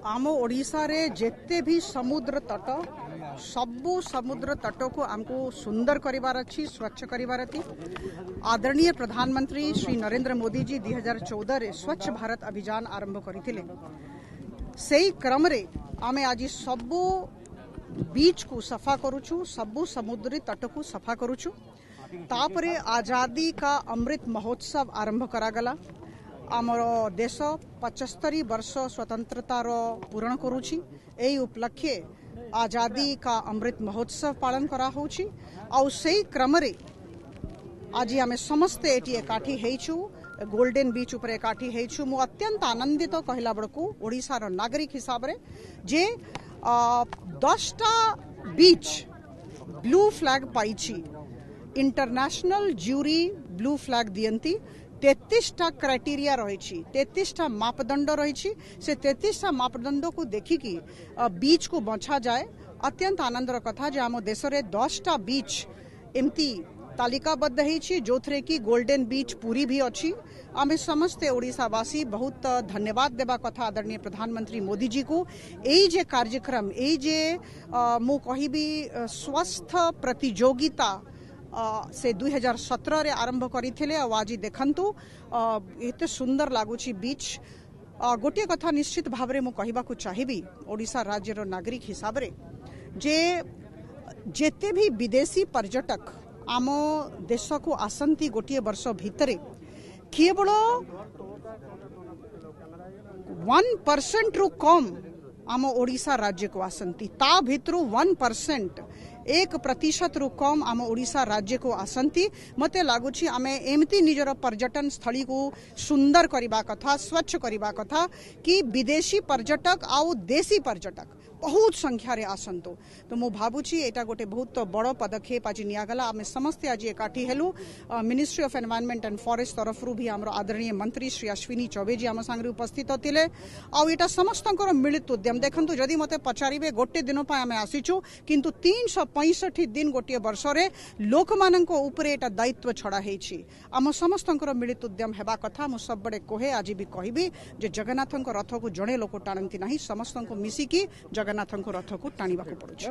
ଆମ ଓଡ଼ିଶାରେ ଯେତେ ବି ସମୁଦ୍ର ତଟ, ସବୁ ସମୁଦ୍ର ତଟକୁ ଆମକୁ ସୁନ୍ଦର କରିବାର ଅଛି, ସ୍ୱଚ୍ଛ କରିବାର ଅଛି। ଆଦରଣୀୟ ପ୍ରଧାନମନ୍ତ୍ରୀ ଶ୍ରୀ ନରେନ୍ଦ୍ର ମୋଦିଜୀ 2014ରେ ସ୍ୱଚ୍ଛ ଭାରତ ଅଭିଯାନ ଆରମ୍ଭ କରିଥିଲେ। ସେଇ କ୍ରମରେ ଆମେ ଆଜି ସବୁ ବିଚ୍କୁ ସଫା କରୁଛୁ, ସବୁ ସମୁଦ୍ରୀ ତଟକୁ ସଫା କରୁଛୁ। ତାପରେ ଆଜାଦି କା ଅମୃତ ମହୋତ୍ସବ ଆରମ୍ଭ କରାଗଲା। ଆମର ଦେଶ 75 ବର୍ଷ ସ୍ୱତନ୍ତ୍ରତାର ପୂରଣ କରୁଛି। ଏହି ଉପଲକ୍ଷେ ଆଜାଦି କା ଅମୃତ ମହୋତ୍ସବ ପାଳନ କରାହେଉଛି ଆଉ ସେଇ କ୍ରମରେ ଆଜି ଆମେ ସମସ୍ତେ ଏଠି ଏକାଠି ହେଇଛୁ, ଗୋଲ୍ଡେନ୍ ବିଚ୍ ଉପରେ ଏକାଠି ହେଇଛୁ। ମୁଁ ଅତ୍ୟନ୍ତ ଆନନ୍ଦିତ କହିଲା ବେଳକୁ ଓଡ଼ିଶାର ନାଗରିକ ହିସାବରେ ଯେ 10ଟା ବିଚ୍ ବ୍ଲୁ ଫ୍ଲାଗ୍ ପାଇଛି। ଇଣ୍ଟରନ୍ୟାସନାଲ ଜୁରି ବ୍ଲୁ ଫ୍ଲାଗ୍ ଦିଅନ୍ତି। 33ଟା କ୍ରାଇଟେରିଆ ରହିଛି, 33ଟା ମାପଦଣ୍ଡ ରହିଛି। ସେ 33ଟା ମାପଦଣ୍ଡକୁ ଦେଖିକି ବିଚ୍କୁ ବଛାଯାଏ। ଅତ୍ୟନ୍ତ ଆନନ୍ଦର କଥା ଯେ ଆମ ଦେଶରେ 10ଟା ବିଚ୍ ଏମିତି ତାଲିକାବଦ୍ଧ ହେଇଛି, ଯେଉଁଥିରେ କି ଗୋଲ୍ଡେନ୍ ବିଚ୍ ପୁରୀ ବି ଅଛି। ଆମେ ସମସ୍ତେ ଓଡ଼ିଶାବାସୀ ବହୁତ ଧନ୍ୟବାଦ ଦେବା କଥା ଆଦରଣୀୟ ପ୍ରଧାନମନ୍ତ୍ରୀ ମୋଦିଜୀକୁ। ଏଇ ଯେ କାର୍ଯ୍ୟକ୍ରମ, ଏଇ ଯେ ମୁଁ କହିବି ସ୍ୱସ୍ଥ ପ୍ରତିଯୋଗିତା ସେ 2017ରେ ଆରମ୍ଭ କରିଥିଲେ, ଆଉ ଆଜି ଦେଖନ୍ତୁ ଏତେ ସୁନ୍ଦର ଲାଗୁଛି ବିଚ୍। ଗୋଟିଏ କଥା ନିଶ୍ଚିତ ଭାବରେ ମୁଁ କହିବାକୁ ଚାହିଁବି ଓଡ଼ିଶା ରାଜ୍ୟର ନାଗରିକ ହିସାବରେ ଯେ ଯେତେ ବି ବିଦେଶୀ ପର୍ଯ୍ୟଟକ ଆମ ଦେଶକୁ ଆସନ୍ତି, ଗୋଟିଏ ବର୍ଷ ଭିତରେ କେବଳ 1%ରୁ କମ୍ ଆମ ଓଡ଼ିଶା ରାଜ୍ୟକୁ ଆସନ୍ତି। ତା ଭିତରୁ 1%, 1%ରୁ କମ୍ ଆମ ଓଡ଼ିଶା ରାଜ୍ୟକୁ ଆସନ୍ତି। ମୋତେ ଲାଗୁଛି ଆମେ ଏମିତି ନିଜର ପର୍ଯ୍ୟଟନ ସ୍ଥଳୀକୁ ସୁନ୍ଦର କରିବା କଥା, ସ୍ୱଚ୍ଛ କରିବା କଥା କି ବିଦେଶୀ ପର୍ଯ୍ୟଟକ ଆଉ ଦେଶୀ ପର୍ଯ୍ୟଟକ ବହୁତ ସଂଖ୍ୟାରେ ଆସନ୍ତୁ। ତ ମୁଁ ଭାବୁଛି ଏଇଟା ଗୋଟେ ବହୁତ ବଡ଼ ପଦକ୍ଷେପ ଆଜି ନିଆଗଲା। ଆମେ ସମସ୍ତେ ଆଜି ଏକାଠି ହେଲୁ। Ministry of environment and forest ତରଫରୁ ବି ଆମର ଆଦରଣୀୟ ମନ୍ତ୍ରୀ ଶ୍ରୀ ଅଶ୍ୱିନୀ ଚୌବେଜୀ ଆମ ସାଙ୍ଗରେ ଉପସ୍ଥିତ ଥିଲେ, ଆଉ ଏଇଟା ସମସ୍ତଙ୍କର ମିଳିତ ଉଦ୍ୟମ। ଦେଖନ୍ତୁ, ଯଦି ମୋତେ ପଚାରିବେ, ଗୋଟେ ଦିନ ପାଇଁ ଆମେ ଆସିଛୁ, କିନ୍ତୁ 365 ଦିନ ଗୋଟିଏ ବର୍ଷରେ ଲୋକମାନଙ୍କ ଉପରେ ଏଇଟା ଦାୟିତ୍ୱ ଛଡ଼ା ହେଇଛି। ଆମ ସମସ୍ତଙ୍କର ମିଳିତ ଉଦ୍ୟମ ହେବା କଥା। ମୁଁ ସବୁବେଳେ କୁହେ, ଆଜି ବି କହିବି ଯେ ଜଗନ୍ନାଥଙ୍କ ରଥକୁ ଜଣେ ଲୋକ ଟାଣନ୍ତି ନାହିଁ, ସମସ୍ତଙ୍କୁ ମିଶିକି ଜଗନ୍ନାଥଙ୍କ ରଥକୁ ଟାଣିବାକୁ ପଡୁଛି।